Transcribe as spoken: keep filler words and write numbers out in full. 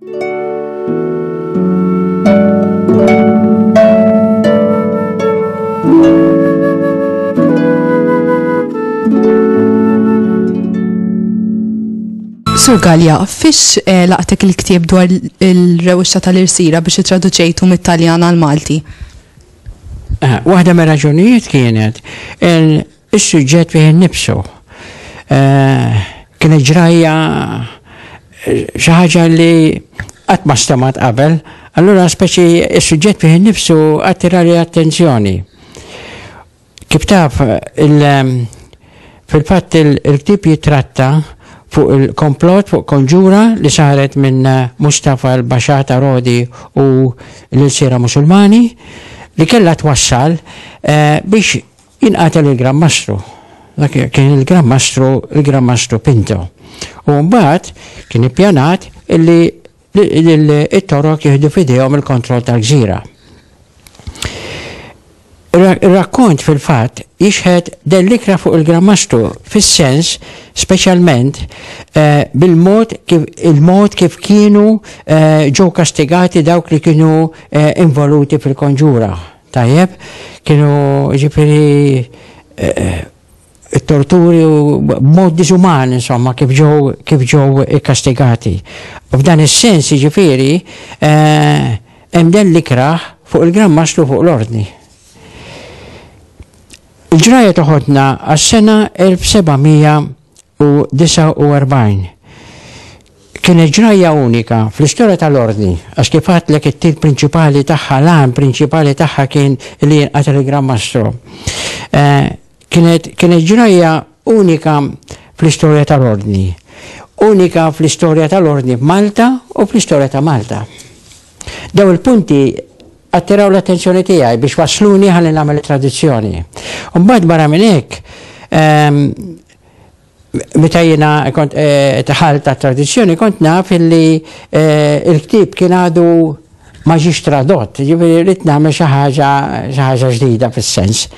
Sur Galea, fiex eh, laqtek il-ktieb dwar il-rewwixta tal-irsira biex ittraduċejtu mit-Taljan għal-Malti? Eh, waħda mir raġunijiet kienet il-suġġett fih innifsu. Eh, kienet ġrajja xi ħaġa li qatt ma stemat qabel, allura speċi is-suġġett fih innifsu attirali attenzjoni. Kif taf, fil-fatt il-ktieb jitratta fuq il-komplot, fuq konġura li saret minn Mustafa l-Baxà ta' Rodi u l-ilsiera Musulmani li kellha twassal eh, biex jinqatel il-Gran Mastru. Dak kien il-Gran Mastru, il-Gran Mastru Pinto. U mbagħad kien ippjanat illi it-Torok jieħdu f'idejhom il-kontroll tal-gżira. Ir-rakkont fil-fatt jixħet dell ikrah fuq il-Gran Mastru fis-sens speċjalment eh, bil-mod kif il-mod kif kienu eh, ġew kastigati dawk li kienu eh, involuti fil-konġura. Tajjeb, kienu ġifieri it-torturi u b'mod diżuman, insomma, kif ġew kif ġew ikkastigati. U f'dan is-sens, ġifieri, hemm dell ikrah fuq il-Gran Mastru, fuq l-ordni. Il-ġraja toħodna għas-sena elf seba' mija u disgħa u erbgħin. Kienet ġraja unika fl-istorja tal-ordni, għax kif għedtlek, it-tir prinċipali tagħha, l-għan prinċipali tagħha kien li jinqatel il-Gran Mastru. Eh, kienet, kienet ġraja unika fl-istorja tal-ordni. Unika fl-istorja tal-ordni f'Malta u fl-istorja ta' Malta. Daw il-punti attiraw l-attenzjoni tiegħi biex wasluni ħalli nagħmel traduzzjoni. Mbagħad barra minn hekk, ehm, meta jiena kont eh, dħalt għat-traduzzjoni, kont naf illi eh, il-ktieb kien għadu ma ġiex tradott, ġifieri rrid nagħmel xi ħaġa xi ħaġa ġdida fis-sens.